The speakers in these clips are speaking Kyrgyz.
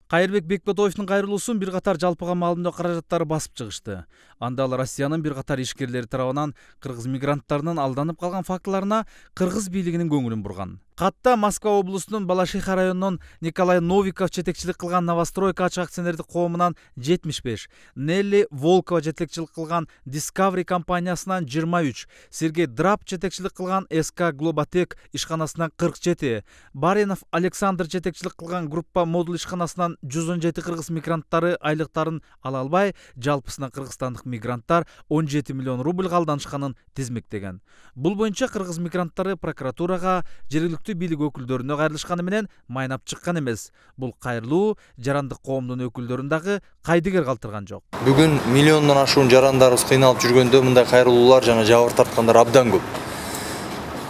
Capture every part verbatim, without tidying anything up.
Кайырбек Бекботоевдун кайрылуусун бир катар жалпыга маалымдоо каражаттары басып чыгышты. Анда ал Россиянын бир катар ишкерлери тарабынан кыргыз мигранттарынын алданып калган фактыларына кыргыз бийлигинин көңүлүн бурган. Катта Москва облусунун Балашиха районунун Николай Новиков жетекчилик кылган Новостройка ачык акционердик коомунан жетимиш беш, Нелли Волкова жетекчилик кылган Discovery компаниясынан жыйырма үч, Сергей Драп жетекчилик кылган эс ка Глоботек ишканасынан кырк жети, Баринов Александр жетекчилик кылган группа модуль ишканасынан жүз он жети кыргыз мигранттары айлыктарын ала албай, жалпысынан кыргызстандык мигранттар он жети миллион рубль алданышканын тизмектеген. Бул боюнча кыргыз мигранттары прокуратурага, жергиликтүү бийлик өкүлдөрүнө кайрылышканы менен майнап чыккан эмес. Бул кайрылуу жарандык коомдун өкүлдөрүн дагы кайдыгер калтырган жок. Бүгүн миллиондон ашуун жарандарыбыз кыйналып жүргөндө мындай кайрылуулар жана жабыр тарткандар абдан көп.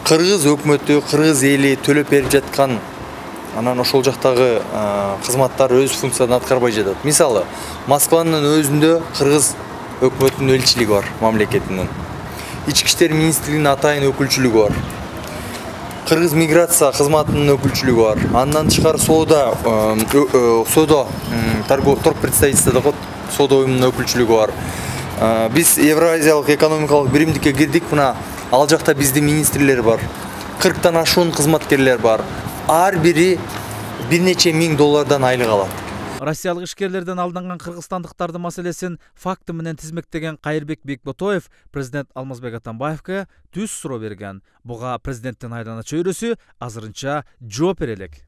Кыргыз өкмөтү, кыргыз эли төлөп берип жаткан анан ошол жактагы кызматтар өз функциясын аткарбай жатат. Мисалы, Москванын өзүндө кыргыз өкмөтүнүн элчилиги бар, мамлекетинин. Ички иштер министрлигинин атайын өкүлчүлүгү бар. Кыргыз миграция кызматынын өкүлчүлүгү бар. Андан тышкары соода соода торговый представительстводо соода уюмунун өкүлчүлүгү бар. Биз Евразиялык экономикалык биримдикке кирдик, мына ал жакта биздин министрлер бар. кырктан ашуун кызматкерлер бар. Ар бири бир нече миң доллардан айлык алат. Россиялык ишкерлерден алданган кыргызстандыктардын маселесин факты менен тизмектеген Кайырбек Бекботоев президент Алмазбек Атамбаевга түз суроо берген. Буга президенттин айлана чөйрөсү азырынча жооп бере элек.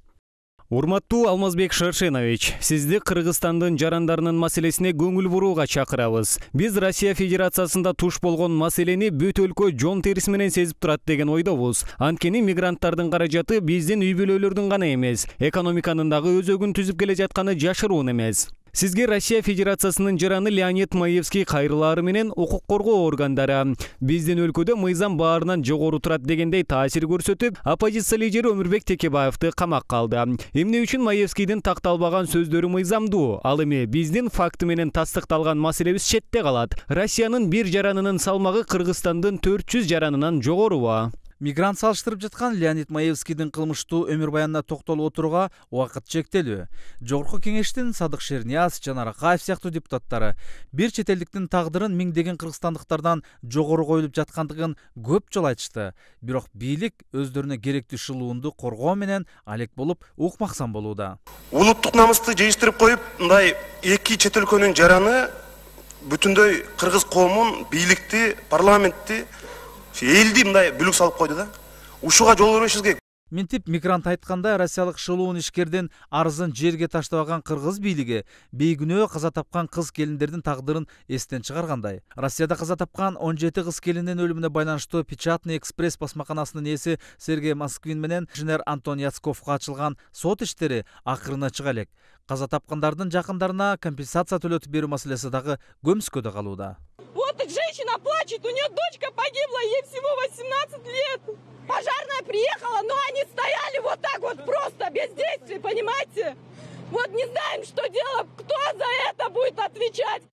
Урматтуу Алмазбек Шаршенович, сизди Кыргызстандын жарандарынын маселесине көңүл бурууга чакырабыз. Биз Россия Федерациясында туш болгон маселени бүт өлкө жон териси менен сезип турат деген ойдобуз. Анткени мигранттардын каражаты биздин үй бүлөлөрдүн гана эмес, экономиканын дагы өзөгүн түзүп келе жатканы жашыруун эмес. Сизге Россия Федерациясынын жараны Леонид Маевский кайрылаары менен укук коргоо органдары биздин өлкөдө мыйзам баарынан жогору турат дегендей таасир көрсөтүп, оппозиция лидери Өмүрбек Текебаевди камакка алды. Эмне үчүн Маевскийдин такталбаган сөздөрү мыйзамдуу? Ал эми биздин факты менен тастыкталган маселебиз четте калат. Россиянын бир жаранынын салмагы Кыргызстандын төрт жүз жаранынан жогорубу? Мигрант салыштырып жаткан Леонид Маевскийдин кылмыштуу өмүр баянына токтолуп отурууга убакыт чектелүү. Жогорку кеңештин Садык Шернияз, Жанар Акаев сыяктуу депутаттары бир чет элдиктин тагдырын миңдеген кыргызстандыктардан жогору коюлуп жаткандыгын көп жолу айтышты. Бирок бийлик өздөрүнө керектүү шылуунду коргоо менен алек болуп укмаксан болууда. Улуттук намысты жыйыштырып коюп, мындай эки чет өлкөнүн жараны бүтүндөй кыргыз коомун, бийликти, парламентти, элди мындай бүлүк салып койду да. Ушуга жол бербешибиз керек. Минтип мигрант айткандай, россиялык шылуун ишкердин арызын жерге таштабаган кыргыз бийлиги бейгүнөө каза тапкан кыз келиндердин тагдырын эстен чыгаргандай. Россияда каза тапкан он жети кыз келиндин өлүмүнө байланыштуу Печатный экспресс басмаканасынын ээси Сергей Москвин менен инженер Антон Яцковго ачылган сот иштери акырына чыга элек. Каза тапкандардын жакындарына компенсация төлөтүп берүү маселеси дагы көмүскөдө калууда. Вот женщина плачет, у нее дочка погибла, ей всего восемнадцать лет. Пожарная приехала, но они стояли вот так вот просто, без действий, понимаете? Вот не знаем, что делать, кто за это будет отвечать.